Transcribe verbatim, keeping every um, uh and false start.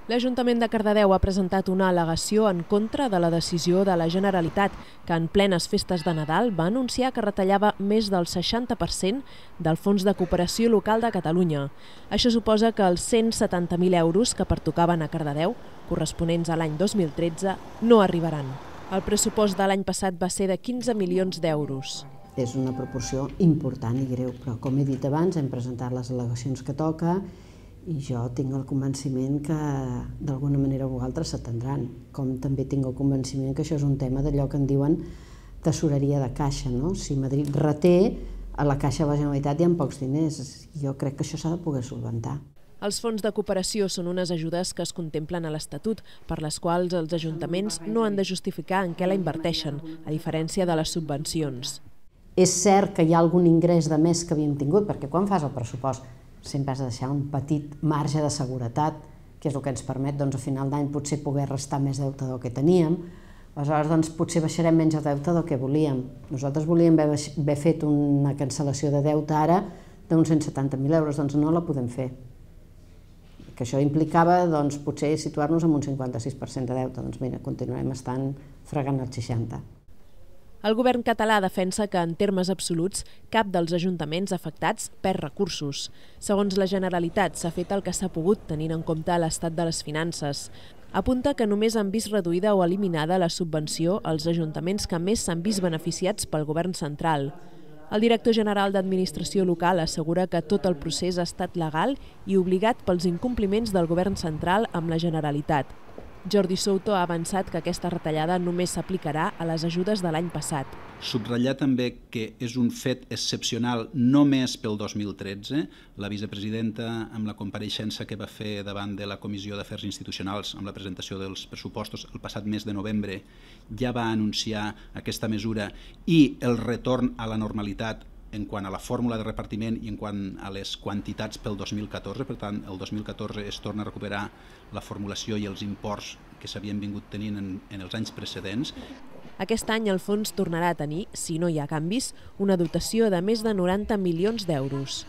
L'Ajuntament de Cardedeu ha presentat una al·legació en contra de la decisió de la Generalitat, que en plenes festes de Nadal va anunciar que retallava més del seixanta per cent del Fons de Cooperació Local de Catalunya. Això suposa que els cent setanta mil euros que pertocaven a Cardedeu, corresponents a l'any dos mil tretze, no arribaran. El pressupost de l'any passat va ser de quinze milions d'euros. És una proporció important i greu, però com he dit abans, hem presentat les al·legacions que toca i jo tinc el convenciment que d'alguna manera vosaltres s'atendran, com també tinc el convenciment que això és un tema d'allò que en diuen tesoreria de caixa, no? Si Madrid reté, a la caixa de la Generalitat hi ha pocs diners. Jo crec que això s'ha de poder solventar. Els fons de cooperació són unes ajudes que es contemplen a l'Estatut, per les quals els ajuntaments no han de justificar en què la inverteixen, a diferència de les subvencions. És cert que hi ha algun ingrés de més que havíem tingut, perquè quan fas el pressupost sempre has de deixar un petit marge de seguretat, que és el que ens permet doncs, a final d'any potser poder restar més deute del que teníem. Aleshores, doncs, potser baixarem menys el deute del que volíem. Nosaltres volíem haver, haver fet una cancel·lació de deute ara d'uns cent setanta mil euros, doncs no la podem fer. Que això implicava doncs, potser situar-nos en un cinquanta-sis per cent de deute. Doncs mira, continuarem estant fregant el seixanta per cent. El govern català defensa que, en termes absoluts, cap dels ajuntaments afectats perd recursos. Segons la Generalitat, s'ha fet el que s'ha pogut tenint en compte l'estat de les finances. Apunta que només han vist reduïda o eliminada la subvenció als ajuntaments que més s'han vist beneficiats pel govern central. El director general d'Administració Local assegura que tot el procés ha estat legal i obligat pels incompliments del govern central amb la Generalitat. Jordi Souto ha avançat que aquesta retallada només s'aplicarà a les ajudes de l'any passat. Subratllar també que és un fet excepcional només pel dos mil tretze. La vicepresidenta, amb la compareixença que va fer davant de la Comissió d'Afers Institucionals amb la presentació dels pressupostos el passat mes de novembre, ja va anunciar aquesta mesura i el retorn a la normalitat en quant a la fórmula de repartiment i en quant a les quantitats pel dos mil catorze. Per tant, el dos mil catorze es torna a recuperar la formulació i els imports que s'havien vingut tenint en, en els anys precedents. Aquest any el fons tornarà a tenir, si no hi ha canvis, una dotació de més de noranta milions d'euros.